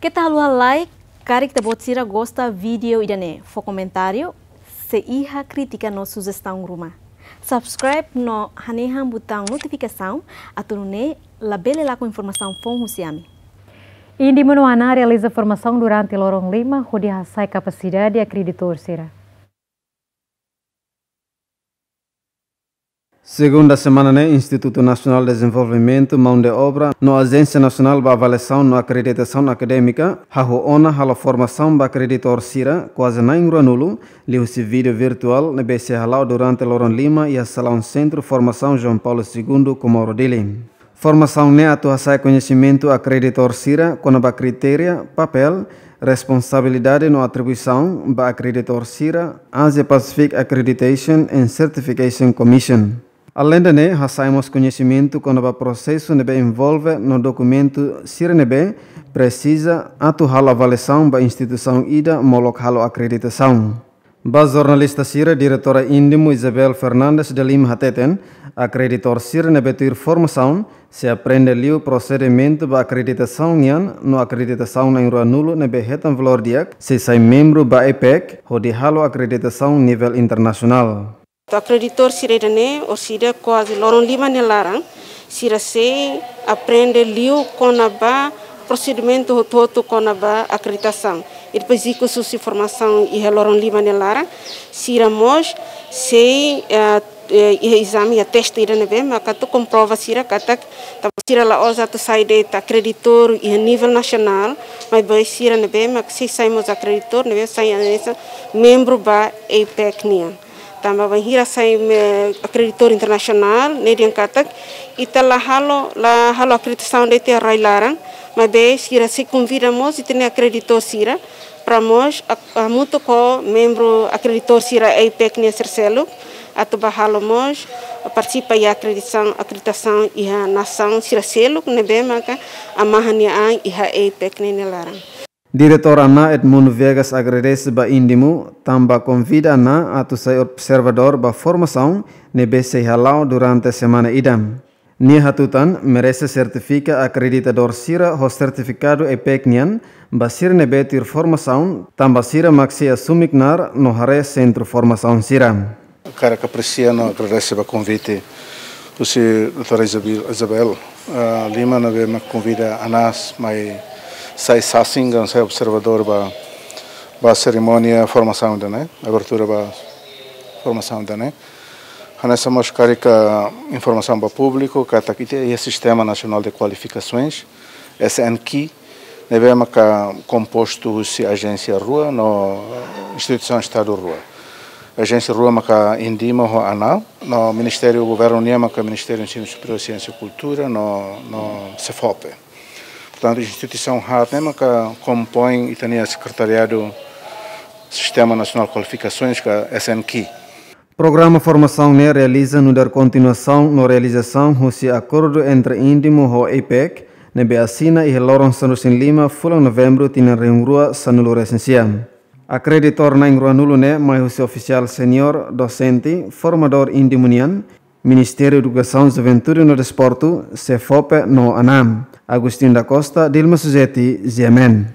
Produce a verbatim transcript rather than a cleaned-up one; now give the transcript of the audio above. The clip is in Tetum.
Keta haluha like, karik ita-boot sira gosta vídeo ida-ne'e, fó komentáriu, sei iha krítika no sujestaun ruma. Subscribe no hanehan butaun notifikasaun, atu nune'e labele lakon informasaun foun husi ami. INDIMU no ANAA realiza formasaun durante loron lima, hodi hasa'e kapasidade akreditór sira. Segunda semana ne'e, Institutu Nasionál Dezenvolvimentu Maun de Obra no Ajénsia Nasionál ba Avaliasaun no Akreditasaun Akadémika, hahú ona halo formasaun ba akreditór sira, kuaze na'in ruanulu, liuhusi vídeo virtuál ne'ebé sei hala'o durante loron lima iha salaun Sentru Formasaun João Paulo Segundo, Comoro, Dili. Formasaun ne'e atu hasa'e koñesimentu akreditór sira kona-ba kritéria, papél, responsabilidade no atribuisaun ba akreditór sira, Asia Pacific Accreditation and Certification Commission. Aleinde ne'e, hasa'e mós koñesimentu kona-ba prosesu ne'ebé envolve no dokumentu sira ne'ebé presiza atu halo avaliasaun ba instituisaun ida molok halo akreditasaun. Ba jornalista sira, Diretora INDIMU Isabel Fernandes de Lima hateten, akreditór sira ne'ebé tuir formasaun sei aprende liu prosedimentu ba akreditasaun nian no akreditasaun na'in ruanulu ne'ebé hetan valór di'ak sei sai membru ba APEC, hodi halo akreditasaun nivel internasionál. Akreditór sira ida-ne'e, orsida kuaze loron lima nia laran, sira sei aprende liu kona-ba prosedimentu hotu-hotu kona-ba akreditasaun. I depois ikus husi formasaun iha loron lima nia laran, sira mós sei, eh, eh, iha ezame, iha teste ida ne'ebé maka atu komprova sira katak, tanba sira la'ós atu sai de'it akreditór iha nivel nasionál, maibé sira ne'ebé maka sei sai mós akreditór ne'ebé sai hanesan membru ba APEC nian. Tanba bainhira sai, eh, akreditór internasionál, ne'e dehan katak ita la halo, la halo akreditasaun de'it iha rai laran, maibé sira sei konvida mós ita-nia akreditór sira para mós ak-, hamutuk ho membru akreditór sira APEC nian sira seluk, atu bá halo mós partisipa iha akreditasaun, akreditasaun iha nasaun sira seluk ne'ebé maka hamahan nia an iha APEC nian nia laran. Diretór ANAA Edmundo Viegas agradese ba INDIMU, tanba konvida ANAA atu sai observadór ba formasaun ne'ebé sei hala'o durante semana ida. Nia hatutan, merese sertifika akreditadór sira ho sertifikadu APEC nian ba sira ne'ebé tuir formasaun, tanba sira mak sei asume knaar no haree sentru formasaun sira. Hakarak apresia no agradese ba konvite husi doutora Isabel, Isabel, ah, Lima, ne'ebé mak konvida ANAA mai sai sasin ka sai observadór ba, ba serimónia formasaun ida-ne'e, abertura ba formasaun ida-ne'e. Hanesan mós karik informasaun ba públiku, katak ita iha Sistema Nasionál de Kualifikasoens, SNQ, ne'ebé maka kompostu husi ajénsia rua no instituisaun Estadu rua. Ajénsia rua maka INDIMU ho ANAA, no ministériu governu nian maka Ministériu Ensinu Superiór, Siénsia, Kultura no, no SEFOPE. Portantu, instituisaun haat ne'e maka kompoin ita-nia sekretariadu Sistema Nasionál Kualifikasoens ka SNQ. Programa formasaun ne'e realiza nu'udar kontinuasaun no realizasaun husi akordu entre INDIMU ho APEC, ne'ebé asina iha loron sanulu-resin-lima fulan Novembru tinan rihun rua sanulu-resin-sia. Akreditór na'in ruanulu ne'e mai husi ofisiál seniór, dosente, formadór INDIMU nian, Ministériu Edukasaun, Juventude no Desportu, SEFOPE no ANAA. Agostinho da Costa, Dilma Suzeti, GMN.